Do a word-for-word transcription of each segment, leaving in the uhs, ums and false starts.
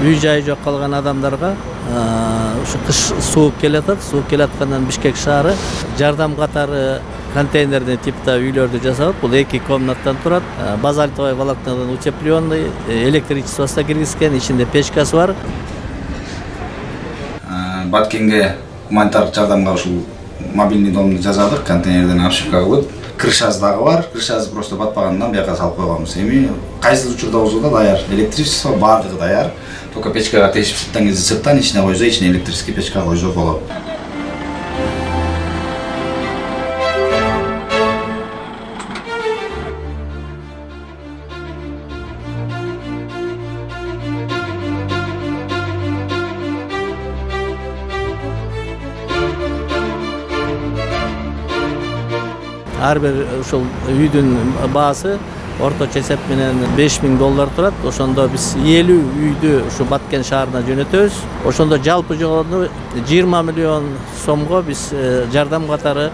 үй жайы жок калган адамдарга ушу кыш суук келатат. Суук келаткандан Бишкек шаары жардам катары контейнерный типта үйлөрдү жасап, бул эки комнаттан турат. Базальтовый волокнадан утепленный, электричествосу киргизген, ичинде печкасы бар. Баткенге гуманитардык жардамга ушул мобильный домду жасадык, контейнерден обшивка кылып. Крышасы дагы бар, крышасы просто батпагандан бияка салып койгонбуз. Эми кайсы учурда болсо да даяр, электричество бардыгы даяр. Только печкага тешип чыккан кезде сырттан ичине койсо, ичине электрический печка койсо болот. Ар бир ушул үйдүн баасы орточо эсеп менен беш миң доллар турат. Ошондо биз элүү үйдү ушу Баткен шаарына жөнөтөбүз. Ошондо жалпы жогону жыйырма миллион сомго биз жардам катары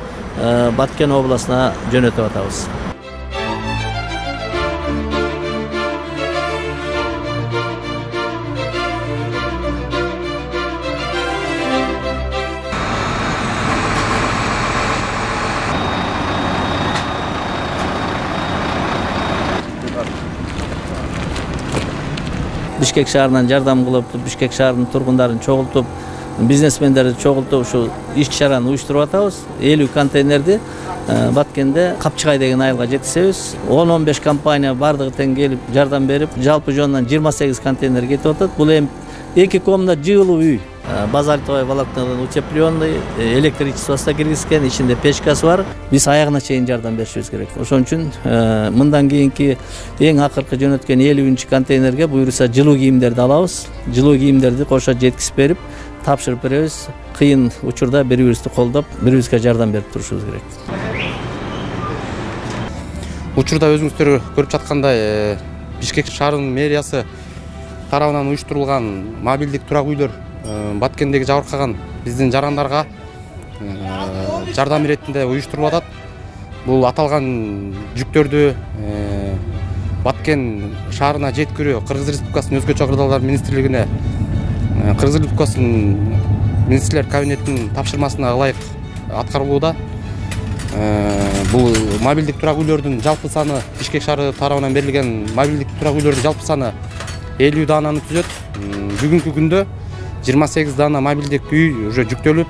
Баткен областына жөнөтүп атабыз. Бишкек шаарынан жардам кылып, Бишкек шаарынын тургундарын чогултуп, бизнесмендерди чогултуп, ушу иш-чараны уюштуруп атабыз. элүү контейнерди Баткенде Капчыгай деген айылга жеткизебиз. он он беш компания бардыгы тең келип жардам берип, жалпы жонунан жыйырма сегиз контейнер кетип атат. Бул эми эки комнат жылуу үй. Базальтовый волокнадан утепленный, электричествосу киргизген, ичинде печкасы бар. Биз аягына чейин жардам беришибиз керек. Ошон үчүн мындан кийинки эң акыркы жөнөткөн элүүнчү контейнерге буюрса жылуу кийимдерди алабыз. Жылуу кийимдерди кошо жеткизип берип, тапшырып беребиз. Кыйын учурда бири-бирибизди колдоп, бири-бирибизге жардам берип турушубуз керек. Учурда өзүңүздөр көрүп жаткандай, Бишкек шаарынын мэриясы тарабынан уюштурулган мобилдик турак үйлөр Баткендеги жабыркаган биздин жарандарга жардам иретинде уюштурулуп атат. Бул аталган жүктөрдү Баткен шаарына жеткирүү Кыргыз Республикасынын өзгөчө кырдаалдар министрлигине, Кыргыз Республикасынын министрлер кабинетинин тапшырмасына ылайык аткарылууда. Бул мобилдик турак үйлөрдүн жалпы саны, Бишкек шаары тарабынан берилген мобилдик турак үйлөрдүн жалпы саны элүү даананы түзөт. Бүгүнкү күндө жыйырма сегиз даана мобилдик үй уже жүктөлүп,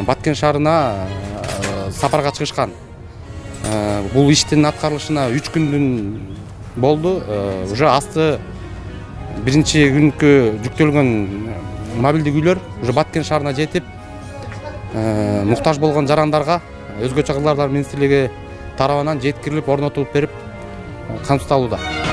Баткен шаарына сапарга чыгышкан. Бул иштин аткарылышына үч күндүн болду. Уже асты биринчи күнкү жүктөлгөн мобилдик үйлөр уже Баткен шаарына жетип, муктаж болгон жарандарга өзгөчө кырдаалдар министрлиги тарабынан жеткирилип, орнотулуп берип камсыздалууда.